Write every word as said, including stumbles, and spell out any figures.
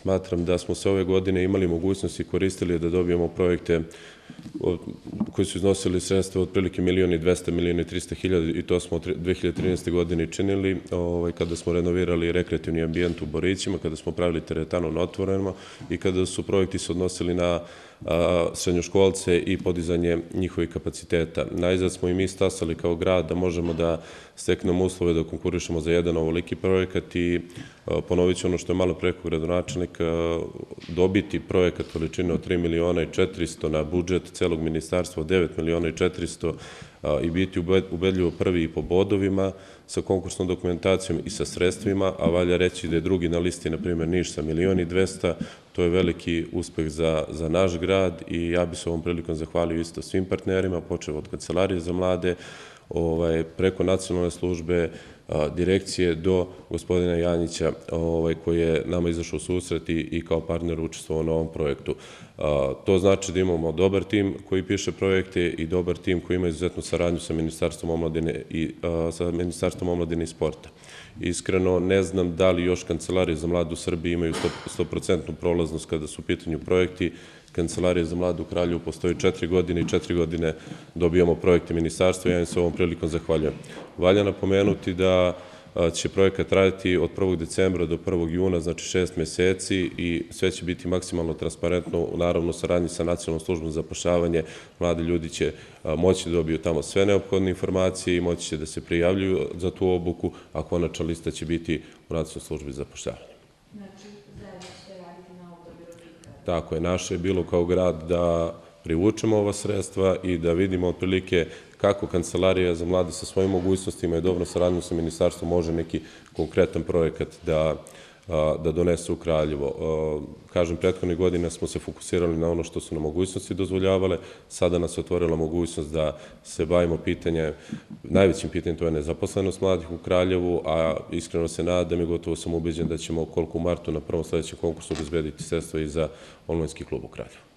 Smatram da smo se ove godine imali mogućnosti i koristili da dobijemo projekte koji su iznosili sredstva otprilike milion i dvesta, milion i trista hiljada i to smo u dve hiljade trinaeste. godini činili kada smo renovirali rekreativni ambijent u Borićima, kada smo pravili teretanu na otvorenima i kada su projekti se odnosili na srednjoškolce i podizanje njihovih kapaciteta. Najzad smo i mi stasali kao grad da možemo da steknemo uslove da konkurišemo za jedan ovoliki projekat i ponovit ću ono što je malo preko gradonačelnik, dobiti projekat veličine od tri miliona i četiristo na budžet celog ministarstva od devet miliona i četiristo i biti ubedljivo prvi i po bodovima sa konkursnom dokumentacijom i sa sredstvima, a valja reći da je drugi na listi, na primjer, Niš sa milion i dvesta, to je veliki uspeh za naš grad i ja bi se ovom prilikom zahvalio isto svim partnerima, počev od Kancelarije za mlade, preko nacionalne službe, direkcije do gospodina Janjića koji je nama izašao u susret i kao partner učestvovao na ovom projektu. To znači da imamo dobar tim koji piše projekte i dobar tim koji ima izuzetnu saradnju sa Ministarstvom omladine i sa Ministarstvom omladine i sporta. Iskreno, ne znam da li još Kancelarije za mlade u Srbiji imaju sto procentnu prolaznost kada su u pitanju projekti. Kancelarija za mlade u Kraljevu postoji četiri godine i četiri godine dobijamo projekte ministarstva i ja im se ovom prilikom zahvaljujem. Valja napomenuti da će projekat raditi od prvog decembra do prvog juna, znači šest meseci i sve će biti maksimalno transparentno, naravno u saradnji sa Nacionalnom službom za zapošljavanje. Mladi ljudi će moći da dobiju tamo sve neophodne informacije i moći će da se prijavljuju za tu obuku, a konačna lista će biti u Nacionalnoj službi za zapošljavanje. Tako je, naše je bilo kao grad da privučemo ova sredstva i da vidimo otprilike kako Kancelarija za mlade sa svojim mogućnostima i dobro saradnju sa ministarstvom može neki konkretan projekat da donese u Kraljevo. Kažem, prethodnih godina smo se fokusirali na ono što su nam mogućnosti dozvoljavale, sada nas je otvorila mogućnost da se bavimo pitanjem, najvećim pitanjem to je nezaposlenost mladih u Kraljevu, a iskreno se nadam i gotovo sam ubeđen da ćemo koliko u martu na prvom sledećem konkursu obezbediti sredstva i za omladinski klub u Kraljevu.